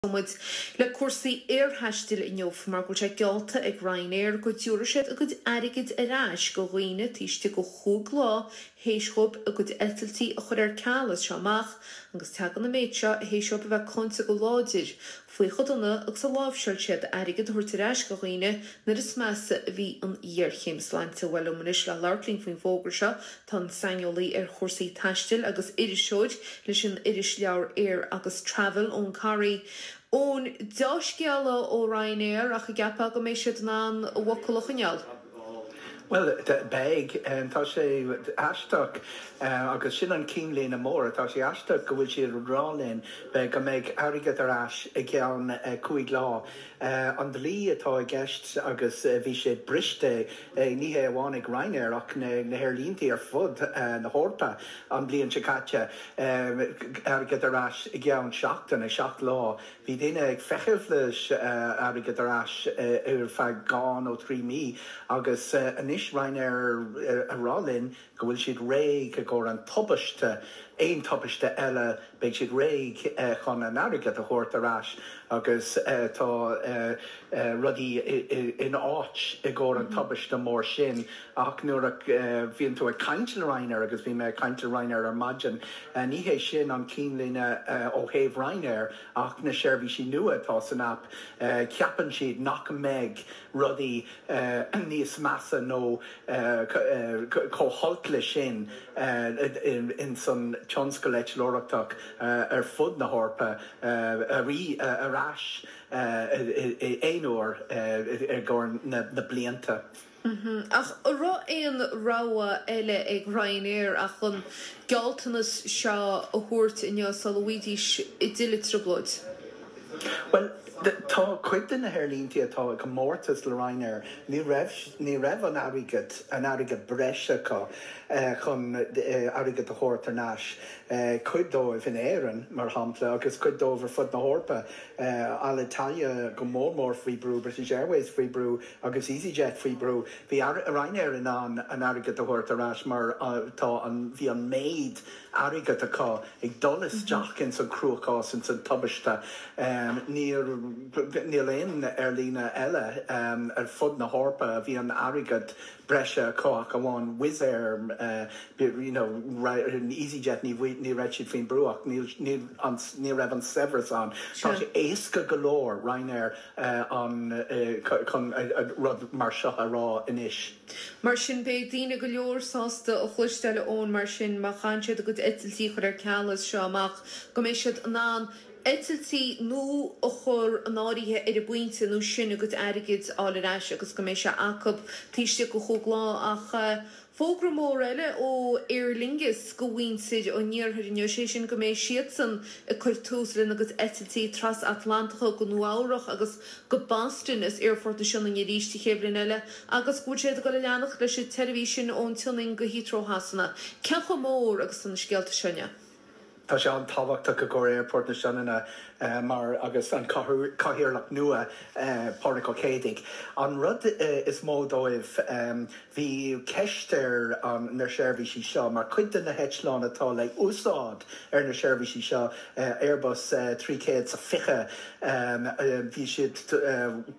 Muid le cúrsaí aerthaistil inniu mar go bhfuil sé geallta ag Ryanair go dtabharfaidh siad a gcuid airgid ar ais go dhaoine taobh istigh de chúig lá théis dhóibh a gcuid eitiltí a chur ar ceal as seo amach agus tagann an méid seo théis dhóibh a bheith cáinte go láidir faoi chomh dona agus a láimhseáil siad airgead a thabhairt ar ais go dhaoine nuair is measa a bhí an ghéarchéim sláinte. Bhuel liom anois le labhairt linn faoin bhfógra seo Tá an saineolaí ar chúrsaí taistil agus iriseoir leis an irisleabhar Air agus Travel, Eoin Corry. Eoin, deá-scéala ó Ryanair ach an gceapfá go mbeidh siad in ann a bhfocal a choinneáil? Bhuel, beidh. Tá sé aisteach agus sin an cinnlíne mór. Tá sé aisteach go bhfuil siad ag rá linn go mbeidh airgead ar ais i gceann 5 lá. An dlí atá i gceist agus bhí sé briste Ní hé amháin ag Ryanair ach na haerlíntí ar fud na hEorpa an bhliain seo caite, airgead ar ais i gceann seachtaine, 7 lá. Bhí daoine ag feitheamh leis airgead ar ais ar feadh 2 nó 3 mí agus anois Ryanair a rá linn go bhfuil siad réidh i gcomhair an tubaiste, aon tubaiste eile, beidh siad réidh chun an airgead a thabhairt ar ais agus tá rudaí in áit i gcomhair an tubaiste mór sin. Ach nuair a bhíonn tú ag caint le Ryanair, agus bhí mé ag caint le Ryanair ar maidin, ní hé sin an cinnlíne ó thaobh Ryanair ach na seirbhísí nua atá san aip, ceapann siad nach mbeidh rudaí níos measa nó chomh holc le sin ins an tionscal eitleoireachtach ar fud na hEorpa ar ais aon uair i gcomhair na blianta. Ach an raibh aon rogha eile ag Ryanair ach an gealltanas seo a thabhairt inniu sula bhfaighidís i dtuilleadh trioblóid? Bhuel, tá cuid de na haerlíntí atá i gcomórtas le Ryanair, ní raibh, ní raibh an airgead, an airgead breise acu chun airgead a thabhairt thar n-ais. Cuid dóibh in Éirinn, mar shampla, agus cuid dóibh ar fud na hEorpa, Alitalia go mór mór faoi brú, British Airways faoi brú agus easyJet faoi brú. Bhí Ryanair in ann an airgead a thabhairt ar ais mar tá an, bhí an méid airgead acu ag dul isteach ins an cruachás, ins an tubaiste. Níl níl aon aerlíne eile ar fud na hEorpa a bhí an airgead breise acu ach amháin Wizz Air, you know, easyJet ní ní raibh siad faoin brú ach níl níl an ní raibh an saibhreas ann. Tá sé éasca go leor Ryanair an chun rud mar seo a rá anois. Mar sin, beidh daoine go leor sásta a chloisteáil, a Eoin, mar sin, má chaitheann siad a gcuid eitiltí a chur ar ceal as seo amach, go mbeidh siad in ann eitiltí nua a chur in áirithe ar an bpointe nó sin a gcuid airgid a fháil ar ais agus go mbeidh sé acu taobh istigh de chúig lá. Ach fógra mór eile ó Aer Lingus go mhuintir an iarthair inniu, sé sin go mbeidh siadsan ag cur tús lena gcuid eitiltí trasatlantacha go Nua Eabhrach agus go Boston as Aerfort na Sionainne arís an chéad bhliain eile agus go bhfuil siad ag dul a leanacht leis an tseirbhís sin ón tSionainn go Heathrow Shasana. Cén chomh mór agus tá na scéalta seo inniu? Tá sé an-tábhachtach i gcomhair Aerfort na Sionainne mar agus an cathaoirleach nua, Pádraig Ó Céidigh. An rud is mó dóibh, bhí ceist ar na seirbhísí seo mar cuid de na heitleáin atá le úsáid ar na seirbhísí seo, Airbus 320, bhí siad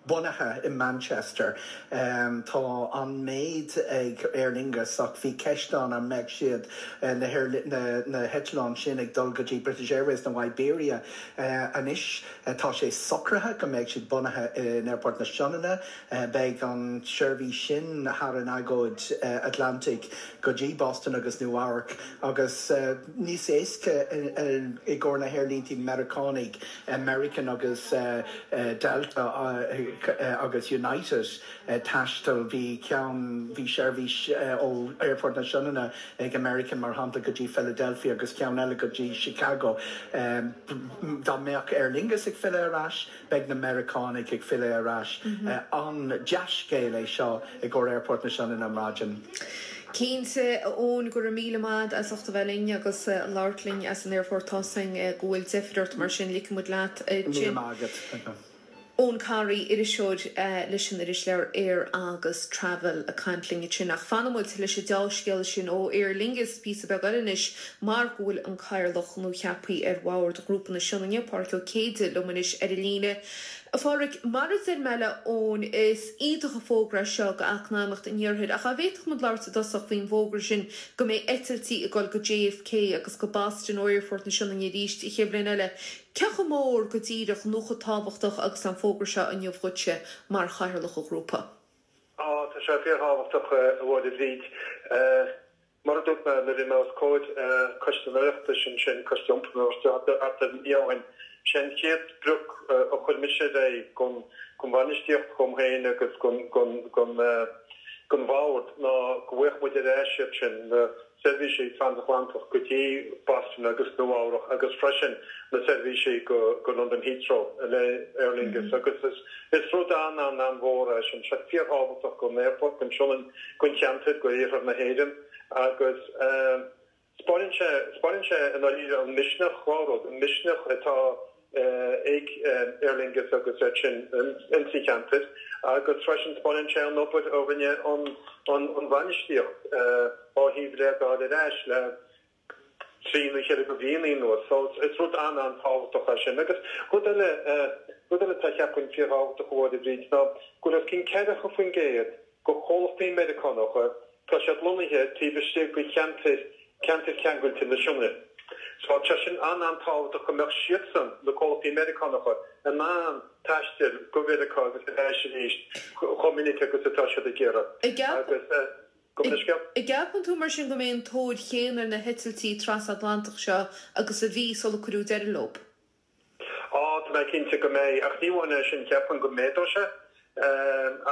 bunaithe i Manchester. Tá an méid ag Aer Lingus ach bhí ceist ann an mbeadh siad na heitleáin sin ag dul go dtí British Airways nó Iberia. Anois tá sé socraithe go mbeidh siad bunaithe in Aerfort na Sionainne. Beidh an tseirbhís sin thar an agóid Atlantaigh go dtí Boston agus Nua Eabhrac agus níos éasca i gcomhair na haerlíntí Meiriceánaigh, American agus Delta agus United taisteal. Bhí ceann, bhí seirbhís ó Aerfort na Sionainne ag American, mar shampla, go dtí Philadelphia agus ceann eile go dtí Chicago. Dá mbeadh Aer Lingus ag filleadh ar ais, beidh na Meiriceánaigh ag filleadh ar ais. An-dea-scéal é seo i gcomhair Aerfort na Sionainne ar maidin. Cinnte, a Eoin, go raibh míle maith a't as ucht a bheith linn agus labhairt linn as an aerfort. Tá 's againn go bhfuil deifir ort, mar sin ligfidh muid leat ansin. Míle maith agat. Eoin Corry, iriseoir leis an irisleabhar Air agus Travel ag caint linn ansin. Ach fanfaidh muid leis an deá-scéala sin ó Aer Lingus píosa beag eile anois mar go bhfuil an Cathaoirleach nuacheaptha ar Bhord Ghrúpa na Sionainne, Pádhraic Ó Céide, liom anois ar an líne. A Phádhraic, mar a deir mé le Eoin, is iontach an fógra é seo go eacnamaíocht an iarthair ach an bhféadfadh muid labhairt i dtosach faoin bhfógra sin go mbeidh eitiltí ag dul go JFK agus go Boston ó Aerfort na Sionainne arís an chéad bhliain eile. Cé chomh mór go díreach nó chomh tábhachtach agus an fógra seo inniu dhuitse mar Chathaoirleach an Ghrúpa? Á, tá sé fíorthábhachtach, a Mháire Bhríd. Mar a dúirt mé nuair a bhí mé os comhair Coiste an Oireachtais ansin, Coiste Iompair an Oireachtais, thart ar mhí ó shin, sé an chéad sprioc a chuir mise ar aghaidh don bhainistíocht, dhom féin agus don bhord ná go bhfaigheadh muid ar ais iad sin, na seirbhísí transatlantach go dtí Boston agus Nua Eabhrach agus freisin na seirbhísí go Londain Heathrow le Aer Lingus agus is rud an an an-mhór é sin. Sé fíorthábhachtach don aerfort, don Sionainn, don cheantar, go iarthar na hÉireann agus 'spáineann sé, 'spáineann sé i ndáiríre an misneach, dhá rud, an misneach atá ag Aer Lingus agus iad sin insa cheantar agus freisin 'spáineann sé an obair a rinne an bhainistíocht ó thaobh iad a fháil ar ais le trí nó cheithre go bhliana anuas. So is rud an-an-tábhachtach é sin. Agus rud eile, rud eile atá cheapfainn fíorthábhachtach a Mháire Bhríd ná go bhfuil os cionn 40% de chomhlachtaí Meiriceánacha, tá siad lonnaithe taobh istigh de cheantair, ceantair cheangailte na Sionainne. So tá sin an-an-tábhachtach go mbeadh siadsan, na comhlachtaí Meiriceánacha, in ann taisteal go Mheiriceá agus ar ais arís chomh minic agus atá siad ag iarraidh. Agus gabh mo leithscéal. An gceapann tú mar sin go mbeidh an tóir chéanna ar na heitiltí trasatlantach seo agus a bhí sula cuireadh deireadh leo? Á, tá mé cinnte go mbeidh, ach ní amháin é sin, ceapaim go méadóidh sé,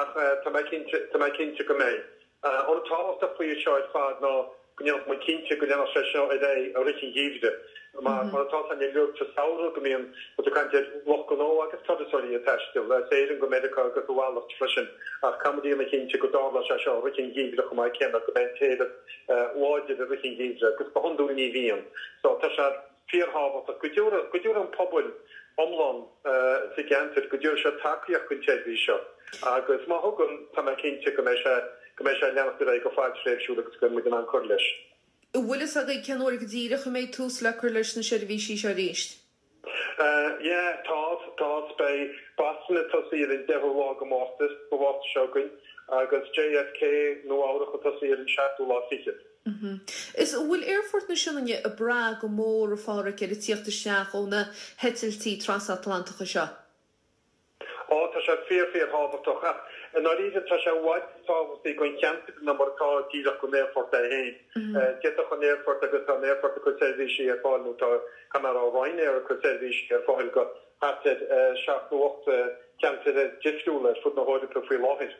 ach tá mé cinnte, tá mé cinnte go mbeidh. An rud tábhachtach faoi seo ar fad ná go ndéanfadh muid cinnte go leanfadh sé seo ar aghaidh i rith an gheimhridh. Mar, mar atá a fhios againn uilig sa samhradh go mbíonn muid ag caint ar lucht gnó agus turasóirí ag taisteal as Éirinn go Meiriceá agus a mhalairt freisin, ach caithfidh muid a dhéanamh cinnte go dtarlóidh sé seo i rith an gheimhridh chomh maith céanna, go mbeidh an t-éileamh láidir i rith an gheimhridh agus go hiondúil ní bhíonn. So tá sé. fíorthábhachtach go dtabharfaidh, go dtabharfaidh an pobal iomlán sa gceantar, go dtabharfaidh siad tacaíocht don tseirbhís seo agus má thugann, tá mé cinnte go mbeidh sé, go mbeidh sé ag leanacht ar aghaidh go fadtréimhsiúil agus go mbeidh muid in ann cur leis. An bhfuil fhios agaibh cén uair go díreach a mbeidh tús le cur leis na seirbhísí seo arís? Yeah, tá, tá. Beidh Boston ag tosaí ar an deichiú lá de Mhárta, de Mhárta seo chugainn, agus JFK, Nua Eabhrach ag tosaí ar an seachtú lá fichead. Is an bhfuil Aerfort na Sionainne ag brath go mór, a Phádhraic, ar an tíocht isteach ó na heitiltí trasatlantacha seo? Á, tá sé fíor, fíor thábhachtach. Ach i ndáiríre, tá sé i bhfad níos tábhachtaí don cheantar ná mar atá díreach don aerfort é féin. D'fhéadfadh an aerfort, agus tá an aerfort ag cur seirbhísí ar fáil, nó tá, caithfidh mé a rá, Ryanair ag cur seirbhísí ar fáil go thart ar sheacht nó ocht ceantar difriúla ar fud na hEorpa faoi láthair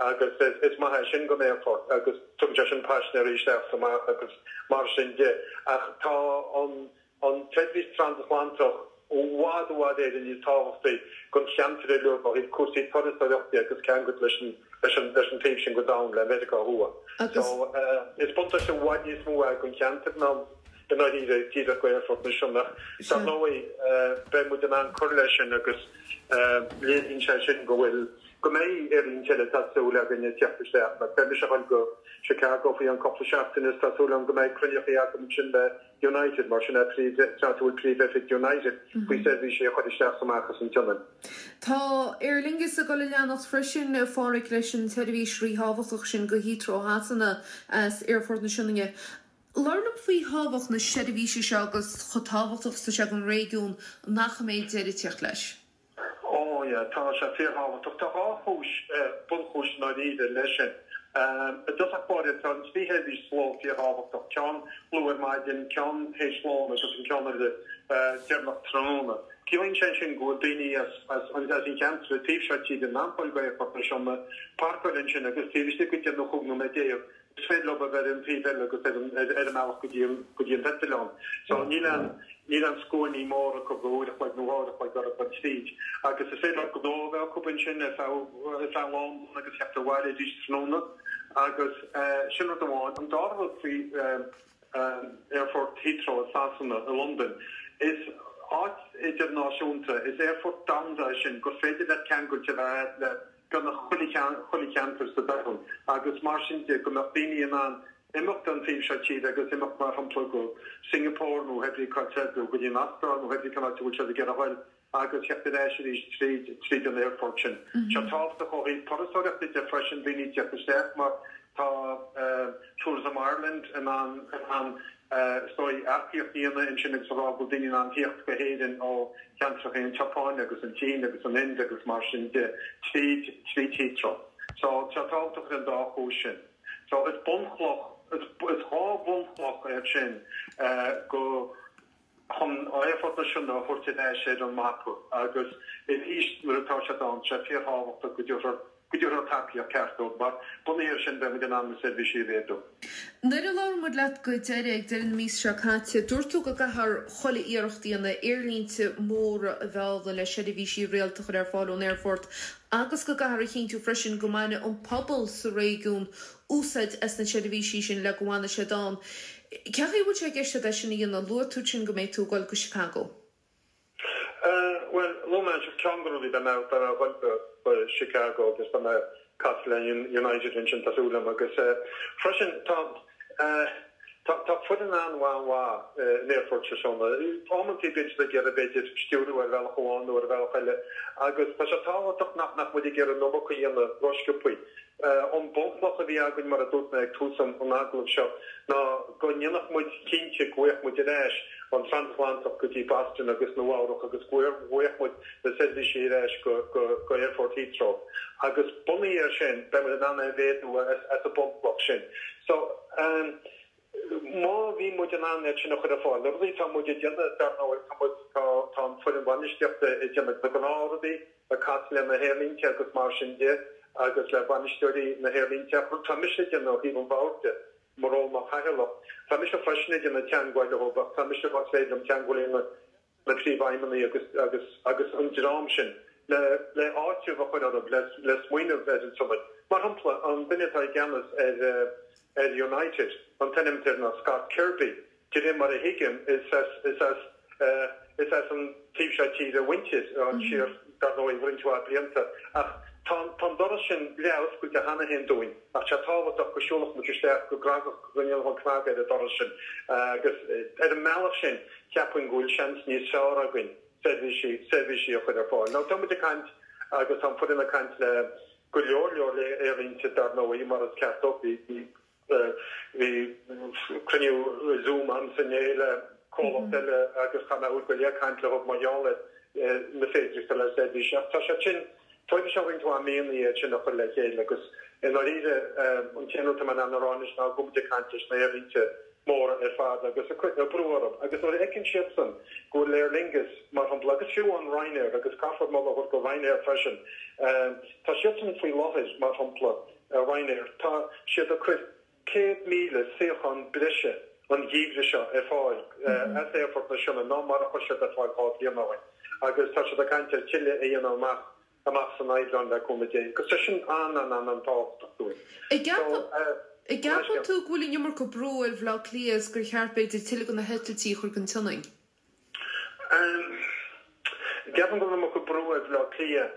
agus is maith é sin don aerfort agus tugann sé sin paisinéirí isteach is amach agus mar sin de. Ach tá an an tseirbhís transatlantach i bhfad i bhfad Éireann níos tábhachtaí don cheantar uilig ó thaobh cúrsaí turasóireachta agus ceangailt leis an leis an leis an taobh sin den domhan, le Meiriceá Thuaidh. So is buntáiste i bhfad níos mó é don cheantar ná i ndáiríre díreach go Aerfort na Sionainne. Ach dar ndóigh beidh muid in ann cur leis sin agus léiríonn sé sin go bhfuil, go mbeidh aerlínte eile tá súil againn ag teacht isteach. Mar beidh mise ag dul go Chicago faoi cheann cúpla seachtain is tá súil agam go mbeidh cruinniú agam ansin le United mar sin é príomh, áit a bhfuil príomhoifig United faoi seirbhísí a chur isteach is amach as an tSionainn. Tá Aer Lingus ag dul a leanacht freisin, a Phádhraic, leis an tseirbhís ríthábhachtach sin go Heathrow Shasana as Aerfort na Sionainne. Labhair liom faoi thábhacht na seirbhíse seo agus chomh tábhachtach is atá sé don réigiún nach mbeidh deireadh ag teacht leis. Ó yeah, tá sé fíorthábhachtach. Tá dhá chúis, bunchúis i ndáiríre leis sin. I dtosach báire, tá an trí sheirbhís sa ló fíorthábhachtach, ceann luath ar maidin, ceann théis lóin agus an ceann eile deireanach tráthnóna. Ciallaíonn sé sin go bhfuil daoine as an cheantar an taobh seo tíre in ann dul go Aerfort na Sionainne, páirceáil ansin agus taobh istigh de deich nó chúig nóiméad déag, Is féidir leo a bheith ar an taobh eile agus ar an ar an mbealach go dtí an go dtí an t-eitleán. So níl aon níl aon scuainí móra acu go uair a chloig nó dhá uair a chloig orthu dul tríd. Agus is féidir leo gnó a bheith acu ansin ar feadh ar feadh lá amháin agus theacht abhaile arís tráthnóna. Agus sin rud amháin. An dara rud faoi Aerfort Heathrow i Sasana, i Londain, is. áit idirnáisiúnta, is aerfort domhanda é sin gur féidir leat ceangailt a bheith le beagnach chuile chuile cheantar sa domhan agus mar sin de go mbeadh daoine in ann imeacht ón taobh seo tíre agus imeacht mar shampla go Singapore nó hé brí cá nó go dtí an Astráil nó hé brí cén áit a bhfuil siad ag iarraidh a ghoil agus theacht ar ais arís tríd tríd an aerfort sin. Tá sé tábhachtach ó thaobh turasóireachta de freisin, daoine ag teacht isteach mar tá Tourism Ireland in ann in ann is dóigh earcaíocht a dhéanamh ansin agus a rá go bhfuil daoine in ann theacht go hÉirinn ó cheantracha an tSeapáin agus an tSín agus an Ind agus mar sin de tríd tríd Heathrow. So tá sé tábhachtach ar an dá chúis sin. So is bunchloch is is dhá bhunchloch iad sin go chun Aerfort na Sionainne a thabhairt ar ais ar an mapa agus arís nuair atá siad ann, tá sé fíorthábhachtach go dtabharfar go dtabharfar tacaíocht ceart dóibh mar bunaithe air sin beidh muid in ann na seirbhísí a mhéadú. Nuair a labhair muid leat go deireadh ag deireadh na míosa seo caite, dúirt tú go gcaithfear chuile iarracht a dhéanamh aerlínte móra a mhealladh le seirbhísí rialta a chur ar fáil ón aerfort agus go gcaithfear a chinntiú freisin go mbainfidh an pobal sa réigiún úsáid as na seirbhísí sin le go bhfanfaidh siad ann. Cén chaoi a bhfuil sé i gceist agat é sin a dhéanamh? Luaigh tú ansin go mbeidh tú ag dul go Chicago. Bhuel, luaigh mé ansin ceann de na rudaí, beidh mé ag dul go Chicago agus beidh mé ag casadh le United ansin, tá súil agam, agus freisin tá tá foireann an-mhaith in Aerfort na Sionainne. Amantaí bíonn siad ag iarraidh b'fhéidir stiúradh ar bhealach amháin nó ar bhealach eile agus tá sé tábhachtach nach nach muid ag iarraidh an iomarca a dhéanamh rósciobthaí. An bunchloch a bhí againn, mar a dúirt mé ag tús an agallaimh seo, ná go ndéanfadh muid cinnte go bhfaigheadh muid ar ais an Transatlantach go dtí Boston agus Nua Eabhrac agus go bhfaigheadh muid na seirbhísí ar ais go Aerfort Heathrow. Agus bunaithe air sin, beidh muid in ann é a mhéadú as an bunchloch sin. So, má bhí muid in ann iad sin a chur ar fáil, na rudaí atá muid ag déanamh, dar ndóigh, tá muid, tá an foireann bhainistíochta ag déanamh na gnáthrudaí, ag casadh le na haerlínte agus mar sin de agus le bainisteoirí na haerlínte. Ach rud tá mise ag déanamh ó thaobh an bhoird de, mo ról mar chathaoirleach, tá mise freisin ag déanamh teagmháil leo ach tá mise más féidir liom teagmháil a dhéanamh le príomhfheidhmeannaigh agus agus agus an dream sin le le áiteamh a chur orthu le le smaoineamh ar an tSionainn. Mar shampla, an duine atá i gceannas ar ar United, an t-ainm atá air ná Scott Kirby, De réir mar a thuigim, is as, is as, is as an taobh seo tíre a mhuintir, siar, dar ndóigh, roinnt mhaith blianta. Ach tá an, tá an doras sin leath-oscailte cheana féin dúinn, ach tá sé tábhachtach go siúlfadh muid isteach, go gcnagfadh, go ndéanfadh an cnag ar an doras sin. Agus ar an mbealach sin, cheapfainn go bhfuil seans níos fearr againn seirbhísí, seirbhísí a chur ar fáil. Now, tá muid ag caint, agus tá an foireann ag caint le go leor leor aerlínte, dar ndóigh, mar is ceart dóibh. Bhí, bhí. Bhí cruinniú Zoom a'msa inné le comhlacht eile agus chaith mé uair go leith ag caint leo mar gheall ar na féidearthachtaí le seirbhísí. Ach tá sé sin, tógfaidh sé roinnt mhaith míonna iad sin a chur le chéile agus i ndáiríre an t-aon rud atá mé in ann a rá anois ná go bhfuil muid ag caint leis na haerlínte móra ar fad agus ag cur brú orthu agus nuair a fheiceann siadsan go bhfuil Aer Lingus mar shampla agus fiú an Ryanair agus caithfear moladh a thabhairt do Ryanair freisin, tá siadsan faoi láthair mar shampla, Ryanair, tá siad ag cur 100,000 suíochán breise an geimhreadh seo ar fáil as Aerfort na Sionainne ná mar a chuir siad ar fáil 2 bhliain ó shin agus tá siad ag caint ar tuilleadh a dhéanamh amach amach san Aibreán le cúnamh Dé agus tá sin an-an-an-an-tábhachtach dúinn. An gceapann tú go bhfuil an iomarca brú ar Bhaile Átha Cliath is gur cheart b'fhéidir tuilleadh de na heitiltí a chur go Sionainn? Ceapaim go bhfuil an iomarca brú ar Bhaile Átha Cliath.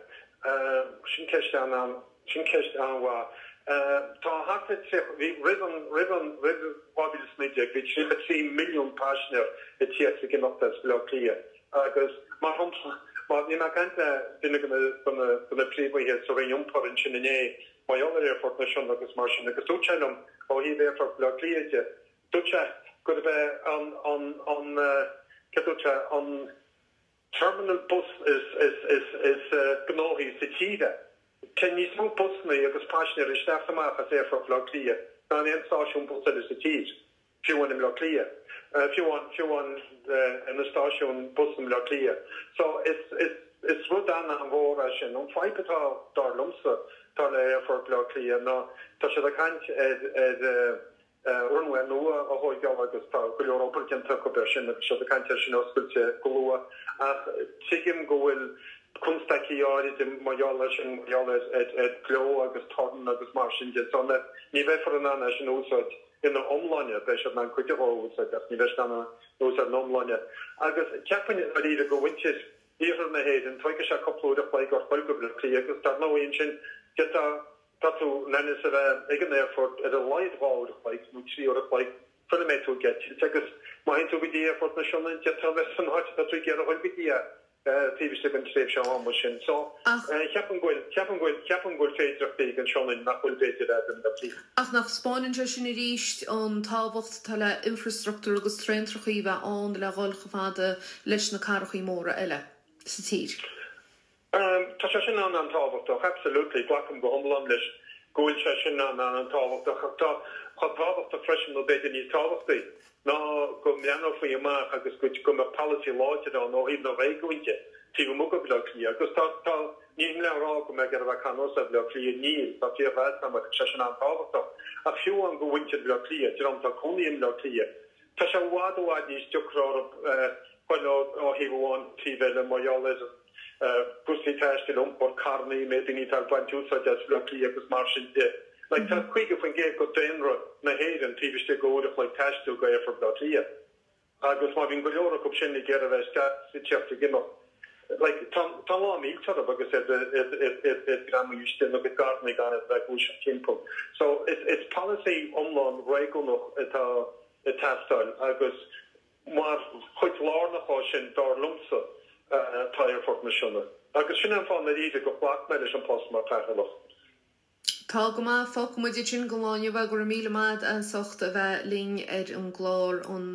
Sin ceist an, sin ceist an-mhaith. Tá thart ar 30, bhí roimh an, roimh an, roimh 2019 bhí 33 milliún paisinéir ag tíocht is ag imeacht as Baile Átha Cliath agus mar shampla, má, bhí mé ag caint le duine de na, de na, de na príomhaithe sa Roinn Iompair ansin inné mar gheall ar Aerfort na Sionainne agus mar sin agus dúirt sé liom ó thaobh Aerfort Bhaile Átha Cliath de, Dúirt sé gurb é an, an, an, céard dúirt sé, an terminal bus is, is, is, is gnóthaí sa tír é. Téann níos mó busanna agus paisinéirí isteach is amach as Aerfort Bhaile Átha Cliath ná in aon stáisiún bus eile sa tír, fiú amháin i mBleá Cliath, fiú amháin, fiú amháin ina stáisiún bus i mBleá Cliath. So is, is, is rud an-an-mhór é sin. An fadhb atá, dar liomsa, atá le Aerfort Bhaile Átha Cliath ná tá siad ag caint ar, ar, runway nua a thóigeáil agus tá go leor obair déanta acu air sin agus siad ag caint air sin a oscailt go luath ach tuigim go bhfuil constaicí áirid mar gheall air sin, mar gheall ar ar gleo agus torann agus mar sin de so ní bheifear in ann é sin a úsáid. ina iomláine, beidh siad in ann cuid de a úsáid ach ní bheidh siad in ann a úsáid ina iomláine. Agus ceapaim dáiríre do mhuintir iarthar na hÉireann, tógfaidh sé cúpla uair a chloig ort dul go Baile Átha Cliath agus dar ndóigh ansin d'fhéadfá tá tú in ainm is a bheith ag an aerfort ar a laghad 2 uair a chloig nó 3 uair a chloig sula mbeidh tú ag eitilt agus má théann tú go dtí aerfort na Sionainne d'fhéadfá a bheith san áit atá tú ag iarraidh a dhul go dtí é taobh istigh den tréimhse ama sin. So, ceapaim go bhfuil, ceapaim go bhfuil, ceapaim go bhfuil féidireachtaí ag an Sionainn nach bhfuil b'fhéidir ag Baile Átha Cliath. Ach nach spáineann sé sin arís an tábhacht atá le infreastruchtúr agus traentrachaí a bheith ann le dhul chomh fada leis na cathrachaí móra eile sa tír? Tá sé sin an-an-tábhachtach, absolutely, glacaim go hiomlán leis go bhfuil sé sin an-an-tábhachtach ach tá chomh tábhachtach freisin nó b'fhéidir níos tábhachtaí ná go mbreathnófaí amach agus go go mbeadh polasaí láidir ann ó thaobh na réigiúin de taobh amuigh de Bhaile Átha Cliath agus tá tá nílim le rá go mbeidh ar a bheith ceannas ar Bhaile Átha Cliath níl tá fíormheas agam air tá sé sin an-tábhachtach ach fiú amháin do mhuintir Bhaile Átha Cliath dream atá ag cónaí i mBaile Átha Cliath Tá sé i bhfad i bhfad níos deacra orthu dul ó thaobh amháin go taobh eile mar gheall ar cúrsaí taistil, iompar, carrannaí, an méid daoine atá ag baint úsáid as Baile Átha Cliath agus mar sin de. Like tá 50% de daonra na hÉireann taobh istigh de uair a chloig taistil go Aerfort Bhaile Átha Cliath agus má bhíonn go leor acu sin ag iarraidh a bheith isteach is ag teacht ag imeacht like tá tá an lá millte orthu agus iad iad greamaithe istigh ina gcuid carrannaí gan iad a bheith ag gluaiseacht timpeall. So is is polasaí iomlán réigiúnach atá ag teastáil agus mar chuid lárnach dhó sin, dar liomsa, tá Aerfort na Sionna. Agus sin é an fáth i ndáiríre gur ghlac mé leis an post mar chathaoirleach. Tá go maith, fágfaidh muid ansin don lá inniu é. Go raibh míle maith agat as ucht a bheith linn ar an gclár an.